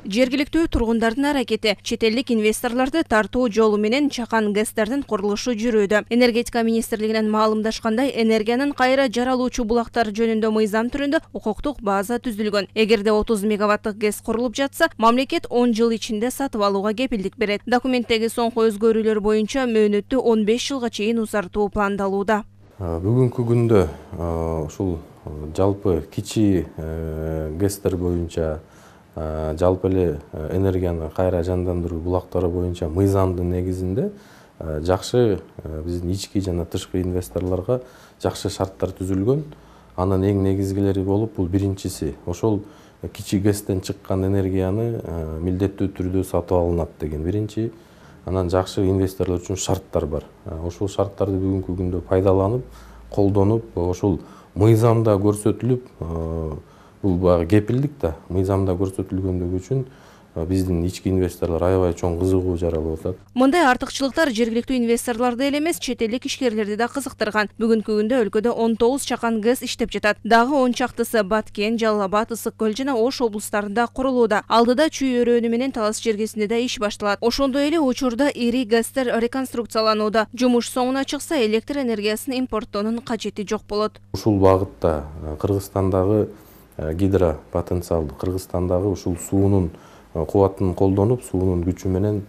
Жергиликтүү тургундардын аракети чет элдик инвесторлорду тартуу жолу менен чакан ГЭСтердин курулушу жүрүүдө. Энергетика министрлигинен маалымдашкандай, энергиянын кайра жаралуучу булактар жөнүндө мыйзам түрүндө укуктук база түзүлгөн. Эгерде 30 мегаваттык ГЭС курулуп жатса, мамлекет 10 жыл ичинде сатып алууга кепилдик берет. Документтеги соңку өзгөрүүлөр боюнча мөөнөттү 15 жылга чейин узартуу пландалууда. Бүгүнкү күндө ушул жалпы кичи ГЭСтер боюнча жалпы эле энергияны кайра жандандыруу булактары боюнча мыйзамдын негизинде жакшы биздин ички жана тышкы инвесторлорго жакшы шарттар түзүлгөн. Анын эң негизгилери болуп, бул биринчиси ошол кичи ГЭСтен чыккан энергияны милдеттүү түрдө сатып алынат деген биринчи. Анан жакшы инвесторлор үчүн шарттар бар. Ошол шарттарды бүгүнкү күндө пайдаланып, колдонуп, ошол мыйзамда көрсөтүлүп, бул баягы кепилдик да, мыйзамда көрсөтүлгөндүгү үчүн биздин ички инвесторлор аябай чоң кызыгуу жаралып атат. Мындай артыкчылыктар жергиликтүү инвесторлорду эле эмес, чет элдик ишкерлерди да кызыктырган. Бүгүнкү күндө өлкөдө 19 чакан ГЭС иштеп жатат. Дагы 10 чактысы Баткен, Жалал Абад, Ысык көл жана Ош облустарында курулууда. Алдыда Чүй өрөөнү менен Талас жергесинде да иш башталат. Ошондой эле учурда ири ГЭСтер реконструкцияланууда. Жумуш соңуна чыкса, электр энергиясын импорттоонун кажети жок болот. Ушул багытта Кыргызстандагы гидропотенциалды, Кыргызстандагы ушул суунун кубатын колдонуп, суунун күчү менен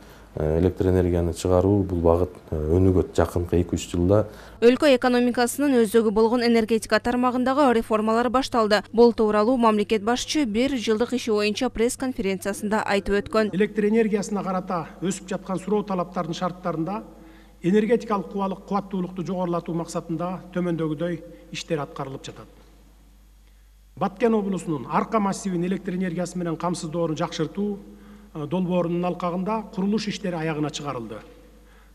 электр энергияны чыгаруу бул багыт өнүгөт жакынкы 2-3 жылда. Өлкө экономикасынын өзөгү болгон энергетика тармагындагы реформалар башталды. Бул тууралуу мамлекет башчы 1 жылдык иши боюнча пресс-конференциясында айтып өткөн. Электр энергиясына карата өсүп жаткан суроо талаптардын шарттарында энергетикалык кубаттуулукту жогорулатуу максатында төмөндөгүдөй иштер аткарылып жатат. Баткен облусунун Арка массивин электр энергиясы менен камсыздоорун жакшыртуу долбоорунун алкагында курулуш иштери аягына чыгарылды.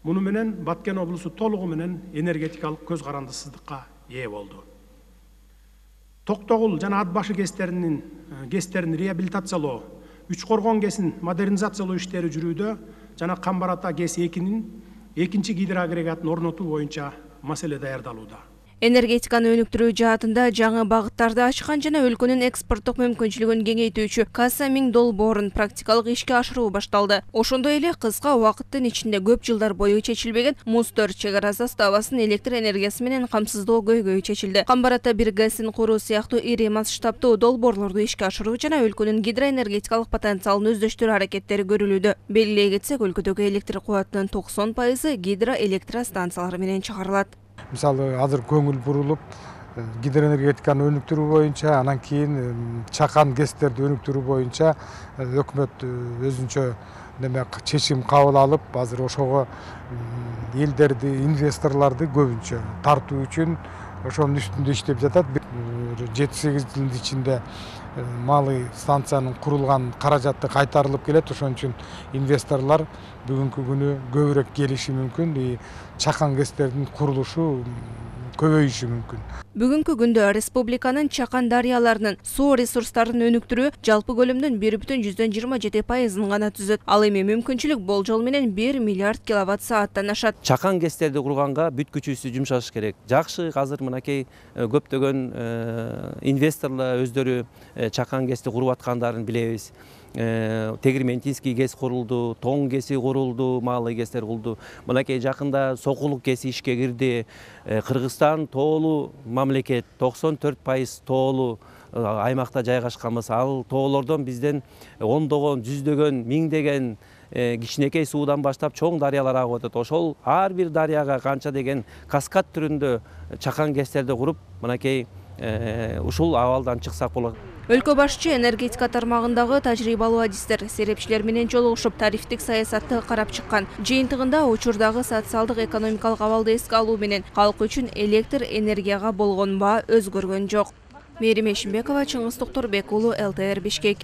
Муну менен Баткен облусу толугу менен энергетикалык көз карандысыздыкка ээ болду. Токтогул жана Ат башы ГЭСтерин реабилитациялоо, Үч Коргон ГЭСин модернизациялоо иштери жүрүүдө жана Камбар Ата ГЭС 2-нин экинчи гидроагрегатын орнотуу боюнча маселе даярдалууда. Энергетиканы өнүктүрүү жаатында жаңы багыттарды ачкан жана өлкөнүн экспорттук мүмкүнчүлүгүн кеңейтүүчү Касса 1000 долбоорун практикалык ишке ашыруу башталды. Ошондой эле кыска убакыттын ичинде көп жылдар бою чечилбеген Муз-4 чек ара заставасын электр энергиясы менен камсыздоо көйгөйү чечилди. Камбар Ата 1 ГЭСин куруу сыяктуу ири масштабтуу долбоорлорду ишке ашыруу жана өлкөнүн гидроэнергетикалык потенциалын өздөштүрүү аракеттери көрүлүүдө. Белгилей кетсек, өлкөдөгү электр кубатынын 90% гидроэлектростанциялар менен чыгарылат. Мисалы, азыр көңүл бурулуп, гидроэнергетиканы өнүктүрүү боюнча, анан кийин чакан ГЭСтерди өнүктүрүү боюнча өкмөт өзүнчө чечим кабыл алып, азыр ошого элдерди, инвесторлорду көбүнчө тартуу үчүн ошонун үстүндө иштеп жатат. 7-8 жылдын ичинде малый станциянын курулган каражаты кайтарылып келет. Ошон үчүн инвесторлор бүгүнкү күнү көбүрөөк келиши мүмкүн, чакан ГЭСтердин курулушу көбөйүшү мүмкүн. Бүгүнкү күндө республиканын чакан дарыяларынын суу ресурстарын өнүктүрүү жалпы көлөмдүн 1,27% гана түзөт. Ал эми мүмкүнчүлүк болжол менен 1 миллиард киловатт сааттан ашат. Чакан ГЭСтерди курганга бүт күчүбүздү жумшаш керек. Жакшы, азыр мынакей көптөгөн инвесторлор өздөрү чакан ГЭСти куруп аткандарын билебиз. Тегирментинский ГЭС курулду, Тоң ГЭСи курулду, малый ГЭСтер курулду. Мынакей жакында Сокулук ГЭСи ишке кирди. Кыргызстан тоолуу мамлекет, 94% тоолуу аймакта жайгашканбыз. Ал тоолордон бизден ондогон, жүздөгөн, миңдеген кичинекей суудан баштап чоң дарыялар агып атат. Ошол ар бир дарыяга канча деген каскад түрүндө чакан ГЭСтерди куруп, мынакей ушул абалдан чыксак болот. Өлкө башчы энергетика тармагындагы тажрыйбалуу адистер, серепчилер менен жолугушуп, тарифтик саясатты карап чыккан. Жыйынтыгында учурдагы социалдык экономикалык абалды эске алуу менен калк үчүн электр энергияга болгон баа өзгөргөн жок. Мээрим Эшимбекова, Чыңгыз Токторбек уулу, ЛТР Бишкек.